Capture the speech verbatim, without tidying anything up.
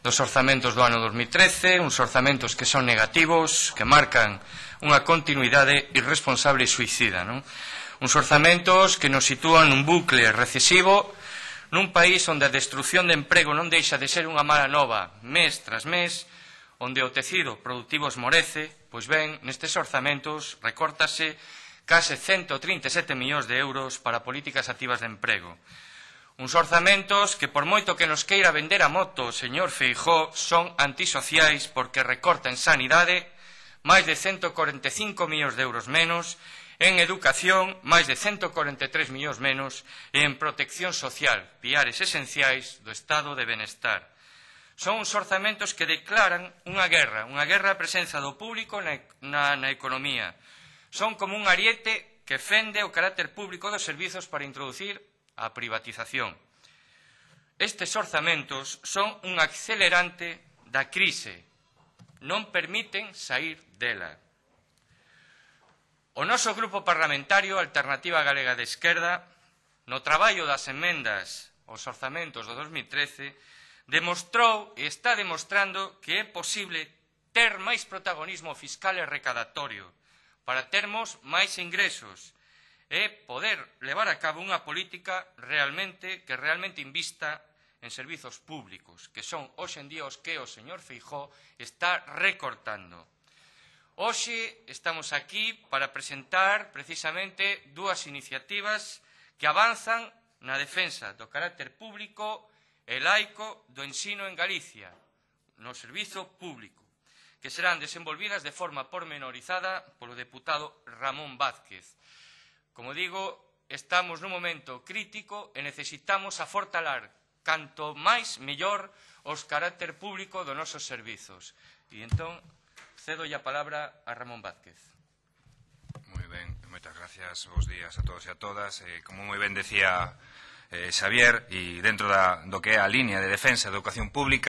dos orzamentos do ano dos mil trece, uns orzamentos que son negativos, que marcan unha continuidade irresponsable e suicida, non? Uns orzamentos que nos sitúan nun bucle recesivo, nun país onde a destrucción de emprego non deixa de ser unha mala nova mes tras mes, onde o tecido productivo esmorece, pois ben, nestes orzamentos recórtase case ciento trinta e sete millóns de euros para políticas activas de emprego. Uns orzamentos que, por moito que nos queira vender a moto o señor Feijóo, son antisociais porque recorta en sanidade máis de ciento corenta e cinco millóns de euros menos, en educación máis de ciento corenta e tres millóns menos e en protección social, piares esenciais do estado de benestar. Son uns orzamentos que declaran unha guerra, unha guerra a presenza do público na, na, na economía. Son como un ariete que fende o carácter público dos servizos para introducir a privatización. Estes orzamentos son un accelerante da crise, non permiten saír dela. O noso grupo parlamentario Alternativa Galega de Esquerda, no traballo das emendas aos orzamentos do dos mil trece, demostrou e está demostrando que é posible ter máis protagonismo fiscal e recadatorio para termos máis ingresos e poder levar a cabo unha política realmente que realmente invista en servizos públicos, que son hoxe en día os que o señor Feijóo está recortando. Hoxe estamos aquí para presentar precisamente dúas iniciativas que avanzan na defensa do carácter público e laico do ensino en Galicia, no servizo público, que serán desenvolvidas de forma pormenorizada polo deputado Ramón Vázquez. Como digo, estamos nun momento crítico e necesitamos afortalar canto máis mellor os carácter público dos nosos servizos. E entón, cedo a palabra a Ramón Vázquez. Moi ben, moitas gracias, bons días a todos e a todas. Eh, como moi ben decía eh, Xavier, e dentro da, do que é a línea de defensa da educación pública,